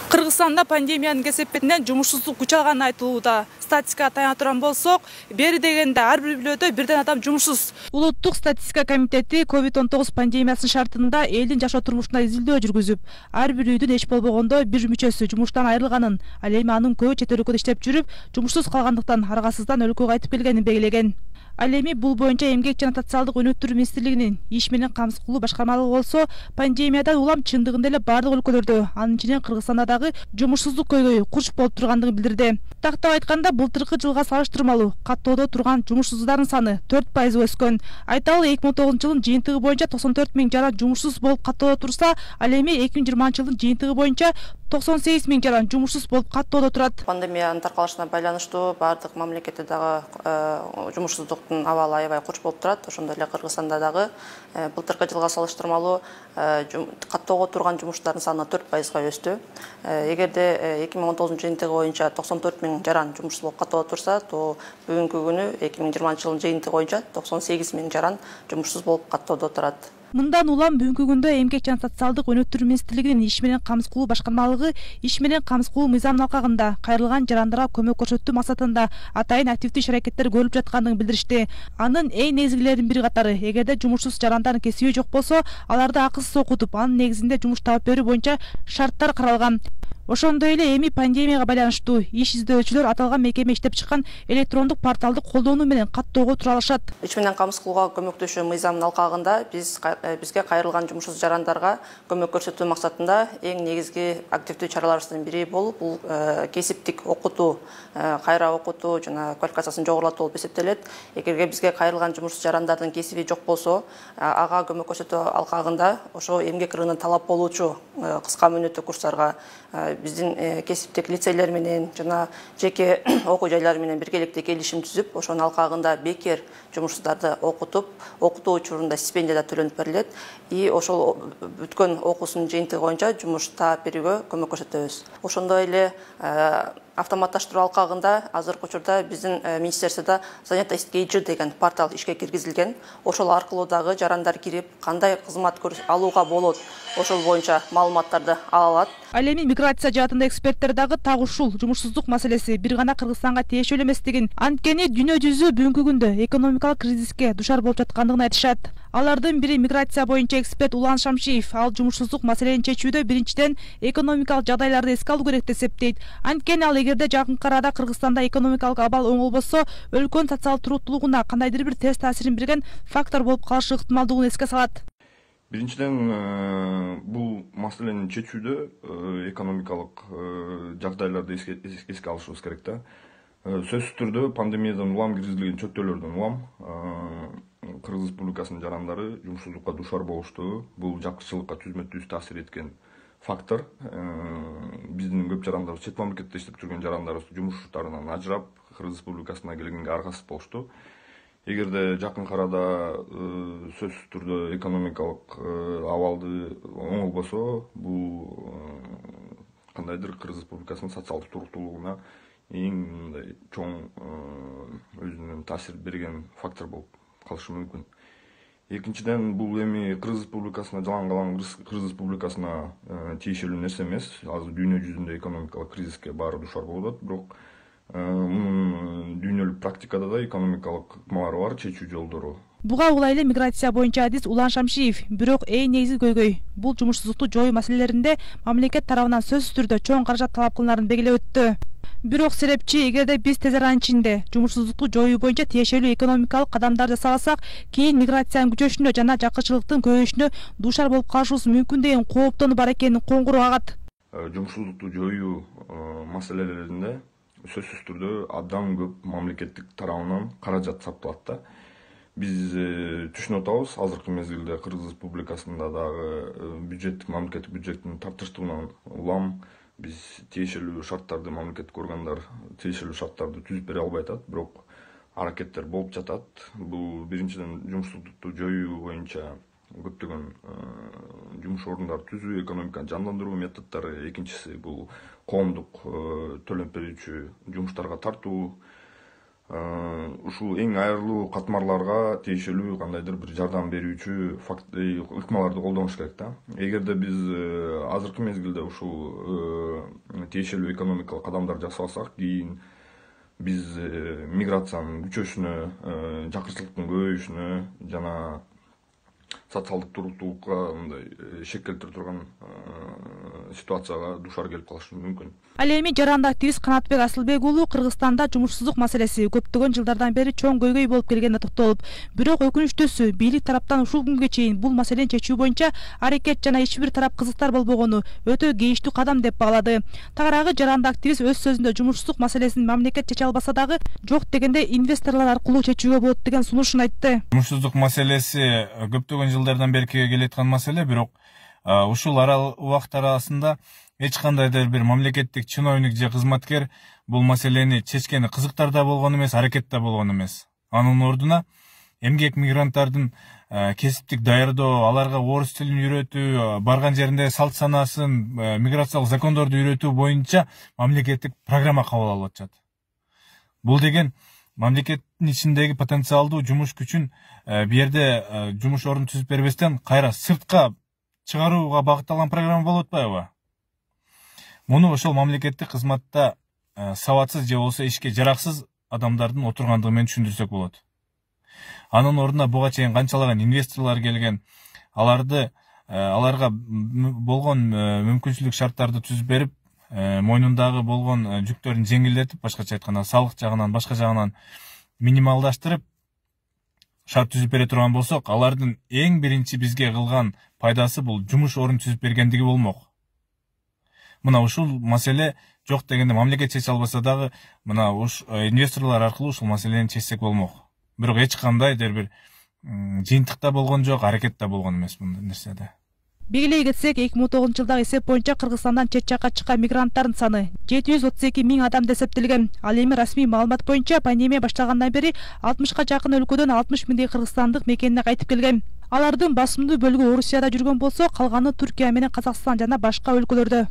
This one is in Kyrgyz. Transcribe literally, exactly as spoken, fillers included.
Кыргызстанда пандемиянын кесепетинен жумушсуздук күч алганы айтылууда. Статистикага таяна турган болсок, бери дегенде ар бир өлкөдө бирден адам жумушсуз. Улуттук статистика комитети ковид он тогуз пандемиясынын шартында элдин жашоо турмушуна изилдөө жүргүзүп, ар бир үйдүн эч болбогондо бир мүчөсү жумуштан айрылганын, ал эми анын көбү чет өлкөдө иштеп жүрүп, жумушсуз калгандыктан аргасыздан өлкөгө кайтып келгенин белгилеген. Ал эми бул боюнча Эмгек жана социалдык өнүктүрүү министрлигинин иш менен камсыз кылуу башкармалыгы болсо, пандемиядан улам чындыгында эле бардык өлкөлөрдө, анын ичинен Кыргызстанда дагы жумушсуздук көйгөйү курч болуп тургандыгын билдирди. Тактап айтканда, былтыркы жылга салыштырмалуу каттоодо турган жумушсуздардын саны төрт пайыз өскөн. Айталы, эки миң он тогузунчу жылдын жыйынтыгы боюнча токсон төрт миң жаран жумушсуз болуп каттоодо турса, ал эми эки миң жыйырманчы жылдын жыйынтыгы боюнча токсон сегиз миң жаран жумушсуз болуп каттоодо турат. Пандемиянын таркалышына байланыштуу бардык мамлекетте дагы жумушсуздуктун абалы аябай курч болуп турат. Ошондой эле Кыргызстанда дагы былтыркы жылга салыштырмалуу каттоого турган жумуштардын саны төрт пайызга өстү. Эгерде эки миң он тогузунчу жыйынтыгы боюнча токсон төрт миң жаран жумушсуз болуп каттоодо турса, то бүгүнкү күнү эки миң жыйырманчы жылдын жыйынтыгы боюнча токсон сегиз миң жаран жумушсуз болуп каттоодо турат. Мындан улам бүгүнкү күндө Эмгек жана социалдык өнүктүрүү министрлигинин иш менен камсыз кылуу башкармалыгы иш менен камсыз кылуу мыйзамынын алкагында кайрылган жарандарга көмөк көрсөтүү максатында атайын активдүү иш-аракеттер көрүлүп жаткандыгын билдиришти. Анын эң негизгилеринин бири катары, эгерде жумушсуз жарандардын кесиби жок болсо, аларды акысыз окутуп, анын негизинде жумуш таап берүү боюнча шарттар каралган. Ошондой эле эми пандемияга байланыштуу иш издөөгчүлөр аталган мекеме иштеп чыккан электрондук порталды колдонуу менен каттоого тура алышат. Иш менен камсыз кылууга көмөктөшүү мыйзамынын алкагында биз бизге кайрылган жумушсуз жарандарга көмөк көрсөтүү максатында эң негизги активдүү чараларыбыздын бири болуп, бул кесиптик окутуу, кайра окутуу жана квалификациясын жогорулатуу болуп эсептелет. Эгерде бизге кайрылган жумушсуз жарандардын кесиби жок болсо, ага көмөк көрсөтүү алкагында ошо эмгек рыногуна талап болуучу кыска мөөнөттүү курстарга биздин кесиптик лицейлер менен жана жеке окуу жайлары менен биргеликте келишим түзүп, ошонун алкагында бекер жумушсуздарды окутуп, окутуу учурунда стипендия да төлөнүп берилет. И ошол бүткөн окуусунун жыйынтыгы боюнча жумуш таап берүүгө көмөк көрсөтөбүз. Ошондой эле автоматташтыруу алкагында азыркы учурда биздин министерстводо занятость кейджи деген портал ишке киргизилген. Ошол аркылуу дагы жарандар кирип, кандай кызмат алууга болот, ошол боюнча маалыматтарды ала алат. Ал эми миграция жаатында эксперттер дагы так ушул жумушсуздук маселеси бир гана Кыргызстанга тиешелүү эместигин, анткени дүйнө жүзү бүгүнкү күндө экономикалык кризиске душар болуп жаткандыгын айтышат. Алардын бири миграция боюнча эксперт Улан Шамшиев. Ал жумушсуздук маселени чечүүдө биринчиден экономикалык жагдайларды эске алуу керек деп эсептейт. Анткени ал эгерде жакынкы арада Кыргызстанда экономикалык абал оңолбосо, өлкөнүн социалдык туруктуулугуна кандайдыр бир терс таасирин берген фактор болуп калышы ыктымалдыгын эске салат. Биринчиден, бул маселени чечүүдө экономикалык жагдайларды эске алышыбыз керек да. Сөзсүз түрдө пандемиядан улам киргизилген чөйрөлөрдөн улам Кыргыз Республикасынын жарандары жумушсуздукка душар болуштугу, бул жакшылыкка түзмө-түз таасир эткен фактор. Биздин көп жарандарыбыз, чет мамлекетте иштеп жүргөн жарандарыбыз жумуштарынан ажырап, Кыргыз Республикасына келгенге аргасыз болушту. Эгерде жакынкы арада сөзсүз түрдө экономикалык абалды оңолбосо, бул кандайдыр Кыргыз Республикасынын социалдык туруктуулугуна эң мындай чоң өзүнүн таасир берген фактор болуп калышы мүмкүн. Экинчиден, бул эми Кыргыз Республикасына, жалаң калган Кыргыз Республикасына тиешелүү нерсе эмес. Азыр дүйнө жүзүндө экономикалык кризиске баары душар болуп атат, бирок мунун дүйнөлүк практикада да экономикалык ыкмалары бар, чечүү жолдору. Буга улай эле миграция боюнча адис Улан Шамшиев. Бирок эң негизги көйгөй бул жумушсуздукту жоюу маселелеринде мамлекет тарабынан сөзсүз түрдө чоң каражат талап кылынарын белгилеп өттү. Бирок серепчи, эгерде биз тез аранын ичинде жумушсуздукту жоюу боюнча тиешелүү экономикалык кадамдар жасабасак, кийин миграциянын күчөшүнө жана жакырчылыктын көбөйүшүнө душар болуп калышыбыз мүмкүн деген кооптонуу бар экенин коңгуроо кагат. Жумушсуздукту жоюу маселелеринде сөзсүз түрдө абдан көп мамлекеттик тарабынан каражат сарпталат да. Биз түшүнүп атабыз, азыркы мезгилде Кыргыз Республикасында дагы бюджеттик, мамлекеттик бюджеттин тартыштууынан улам биз тиешелүү шарттарды, мамлекеттик органдар тиешелүү шарттарды түзүп бере албай атат, бирок аракеттер болуп жатат. Бул биринчиден жумушсуздукту жоюу боюнча көптөгөн жумуш орундарын түзүү, экономиканы жандандыруу методдору. Экинчиси бул коомдук төлөп берүүчү жумуштарга тартуу. ушул эң айрылуу катмарларга тиешелүү кандайдыр бир жардам берүүчү факт ыкмаларды колдонуш керек да. Эгерде биз азыркы мезгилде ушул тиешелүү экономикалык кадамдар жасасак, кийин биз миграциянын күчөшүнө, жакырчылыктын көбөйүшүнө жана социалдык туруктуулукка мындай шек келтире турган ситуацияга душар келип калышы мүмкүн. Ал эми жарандык активист Канатбек Асылбек уулу Кыргызстанда жумушсуздук маселеси көптөгөн жылдардан бери чоң көйгөй болуп келгенине токтолуп, бирок өкүнүчтүүсү бийлик тараптан ушул күнгө чейин бул маселени чечүү боюнча аракет жана эч бир тарап кызыктар болбогону өтө кейиштүү кадам деп баалады. Тагыраагы жарандык активист өз сөзүндө жумушсуздук маселесин мамлекет чече албаса дагы жок дегенде инвесторлор аркылуу чечүүгө болот деген сунушун айтты. Жумушсуздук маселеси көптөгөн жылдардан бери келаткан маселе, бирок ушул убакыт арасында эч кандайдыр бир мамлекеттик чиновник же кызматкер бул маселени чечкени кызыктар да болгон эмес, аракет да болгон эмес. Анын ордуна эмгек мигранттардын кесиптик даярдоо, аларга орус тилин үйрөтүү, барган жеринде салт санасын, миграциялык закондорду үйрөтүү боюнча мамлекеттик программа кабыл алып атышат. Бул деген мамлекеттин ичиндеги потенциалдуу жумуш күчүн бу жерде жумуш орун түзүп бербестен кайра сыртка чыгарууга багытталган программа болуп атпайбы? Муну ошол мамлекеттик кызматта сабатсыз же болбосо ишке жараксыз адамдардын отургандыгы менен түшүндүрсөк болот. Анын ордуна буга чейин канчалаган инвесторлор келген, аларды аларга болгон мүмкүнчүлүк шарттарды түзүп берип, мойнундагы болгон жүктөрүн жеңилдетип, башкача айтканда салык жагынан, башка жагынан минималдаштырып шарт түзүп бере турган болсок, алардын эң биринчи бизге кылган пайдасы бул жумуш орун түзүп бергендиги болмок. Мына ушул маселе жок дегенде мамлекет чече албаса дагы, мына уш инвесторлор аркылуу ушул маселени чечсек болмок. Бирок эч кандайдыр бир жыйынтык да болгон жок, аракет да болгон эмес мындай нерседе. Белгилей кетсек, эки миң он тогузунчу жылдагы эсеп боюнча Кыргызстандан чет жакка чыккан мигранттардын саны жети жүз отуз эки миң адамда эсептелген. Ал эми расмий маалымат боюнча пандемия башталгандан бери алтымышка жакын өлкөдөн алтымыш миңдей кыргызстандык мекенине кайтып келген. Алардын басымдуу бөлүгү Орусияда жүргөн болсо, калганы Түркия менен Казакстан жана башка өлкөлөрдө.